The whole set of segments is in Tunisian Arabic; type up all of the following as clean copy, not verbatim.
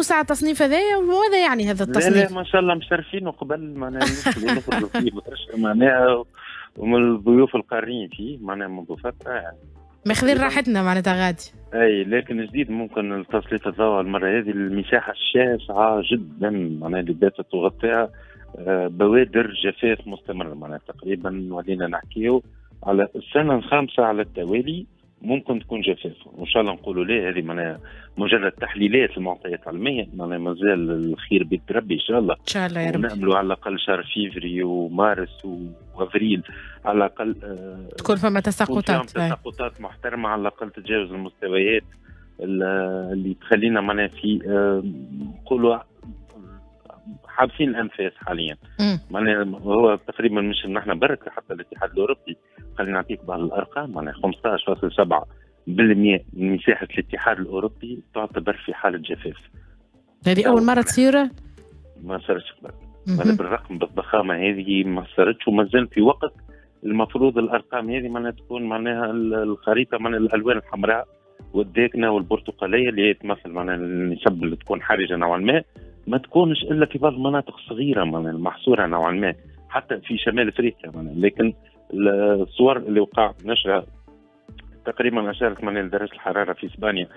ساعة التصنيف هذايا، وماذا يعني هذا التصنيف؟ لا ما شاء الله مشرفين، وقبل معناها نخرجوا فيه برشا معناها، ومن الضيوف القارين فيه معناها منذ فترة يعني. ماخذين راحتنا معناتها غادي. اي، لكن جديد ممكن تسليط الضوء المرة هذه المساحة الشاسعه جدا معناها اللي باتت تغطيها بوادر جفاف مستمر، معناها تقريبا ولينا نحكيو على السنة الخامسة على التوالي ممكن تكون جفاف، وان شاء الله نقولوا ليه هذه معناها مجرد تحليلات المعطيات العلمية، معناها مازال الخير بيد ربي ان شاء الله. ان شاء الله يا رب. ونأملوا على الاقل شهر فيفري ومارس وافريل على الاقل تكون فما تساقطات، تساقطات محترمه على الاقل تتجاوز المستويات اللي تخلينا معناها في نقولوا حابسين الانفاس حاليا. معناها هو تقريبا مش نحن برك، حتى الاتحاد الاوروبي، خلينا نعطيك بعض الارقام، معناها 15.7% من مساحة الاتحاد الاوروبي تعتبر في حاله جفاف. هذه اول مرة تصير؟ ما صارتش قبل، معناها بالرقم بالضخامه هذه ما صارتش، وما زال في وقت المفروض الارقام هذه معناها تكون معناها الخريطة معناها الالوان الحمراء والداكنه والبرتقاليه اللي هي تمثل معناها النسب اللي تكون حرجه نوعا ما، ما تكونش الا في بعض المناطق الصغيرة معناها المحصوره نوعا ما حتى في شمال افريقيا معناها. لكن الصور اللي وقع نشرها تقريبا اشارت معناها لدرجة الحرارة في اسبانيا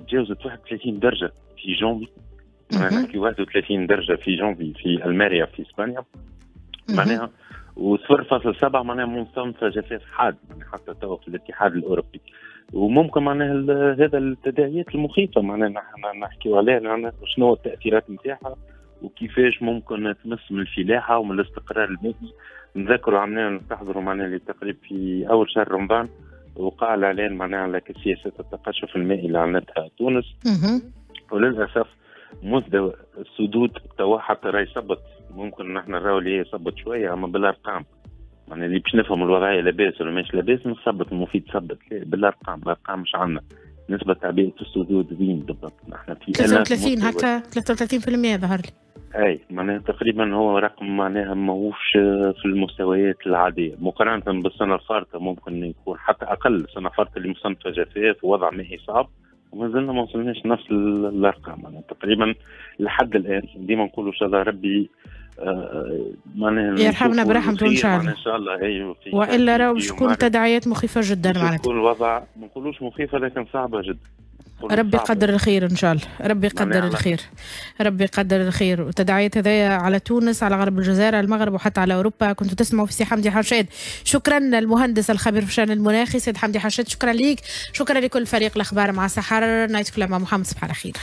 تجاوزت 31 درجه في جونفي، معناها نحكي 31 درجه في جونفي في الماريا في اسبانيا معناها، و0.7 معناها مصنفه جفاف حاد معناها حتى توا في الاتحاد الاوروبي. وممكن معناها هذا التداعيات المخيفة معناها نحن نحكيو عليها، شنو التاثيرات نتاعها وكيفاش ممكن تمس من الفلاحة ومن الاستقرار المائي. نذكروا عملنا نستحضروا معناها اللي تقريبا في اول شهر رمضان وقع الاعلان معناها على سياسة التقشف المائي اللي اعلنتها تونس، وللاسف مستوى السدود توا حتى راهي صبت، ممكن نحن نراو اللي هي صبت شوية اما بالارقام، معناها اللي باش نفهم الوضعية لاباس ولا ماشي لاباس نثبت المفيد ثبت بالارقام، الارقام مش عندنا نسبه تعبئة السدود وين بالضبط نحن في 33 هكا 33% ظهر لي. اي معناها تقريبا هو رقم معناها ماهوش في المستويات العادية مقارنة بالسنة الفارطه، ممكن يكون حتى اقل. السنة الفارطه اللي مصنفه جفاف ووضع مائي صعب، وما زلنا ما وصلناش نفس الارقام معناها تقريبا لحد الان. ديما نقولوا ان شاء الله ربي معناها يرحمنا برحمته ان شاء الله. ان شاء الله اي، والا راهو باش تكون تداعيات مخيفة جدا معناتها. تكون الوضع ما نقولوش مخيفة لكن صعبة جدا. ربي يقدر الخير ان شاء الله، ربي يقدر الخير، ربي يقدر الخير. وتداعيات هذايا على تونس، على غرب الجزائر، على المغرب، وحتى على اوروبا. كنتوا تسمعوا في سي حمدي حشاد. شكرا المهندس الخبير في الشان المناخي سيد حمدي حشاد، شكرا ليك، شكرا لكل فريق الاخبار مع سحر نايت كلام مع محمد. صباح على خير.